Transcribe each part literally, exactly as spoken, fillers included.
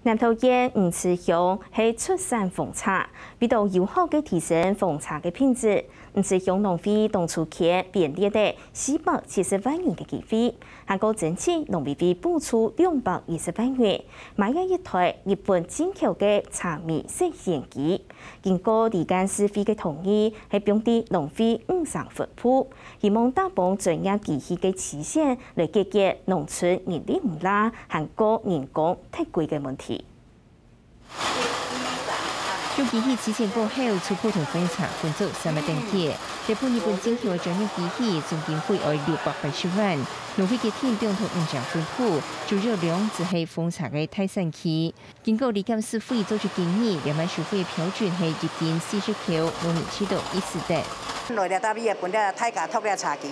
南投縣魚池鄉係出產紅茶，為著有效个提升紅茶个品質，魚池鄉農會當初牽編列个四百七十萬元个經費，還過申請農委會補助兩百一十萬元，買了一台日本進口个茶米食鮮機。經過離間市府个同意，係放在農會五層分部，希望打破專業機器个期限，來解決農村人力毋罅，還過人工忒貴个問題。 用機器淰過後，就普通紅茶分做三个等級。這部日本進口个專業機器，總經費愛六百八十萬。農會決定中途五層分部，主要兩就係紅茶个大產區。經過李監事會做出建議，這擺收費標準係一斤四十箍，農民食著一時得。來這搭位个分這大家托這茶機，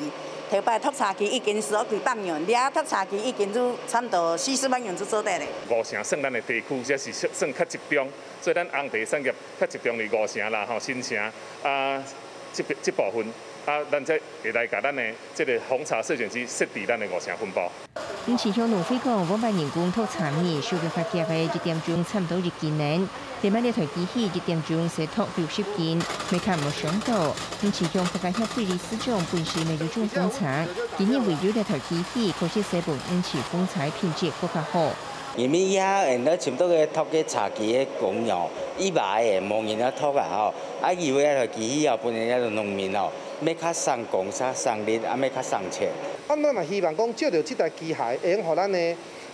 頭擺托茶機一斤係愛幾百元，這托茶機一斤就差毋多四十萬元就做得咧。五城算咱个地區，這是算較集中。 所以咱紅茶產業較集中佇五城啦，吼，新城啊，這，這部分啊，咱才會來共咱的這个紅茶食鮮機設佇咱的五城分部。魚池鄉農會講，往擺人工托茶米，收入較低个一點鐘差毋多一斤呢。這擺這台機器一點鐘使托六十斤，乜較無傷著。魚池鄉客家協會理事長本身乜有種紅茶，佢認為有這台機器，確實使分魚池紅茶品質閣較好。 因為這下現在差不多个托个茶機个工人，一百个無人愛托啊吼，啊，因為這台機器啊，分人家農民哦，乜較省工、較省力，啊，乜較省錢。啊，咱嘛希望講，借著這台機械，會用予咱的，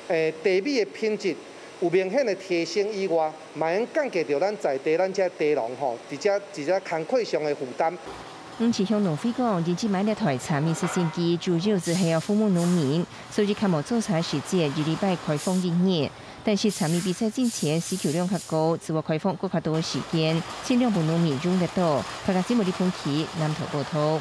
誒，茶米的品質有明顯的提升以外，嘛會降低著咱在地咱遮茶農吼，佇遮，佇遮工課上的負擔。魚池鄉農會講，因為買這台茶米食鮮機，主要就係愛服務農民， 所以較無做茶時節，一禮拜開放一日。但是茶米比賽進前需求量較高，就愛開放閣較多个時間，盡量分農民用得著。客家新聞李鵬奇，南投報導。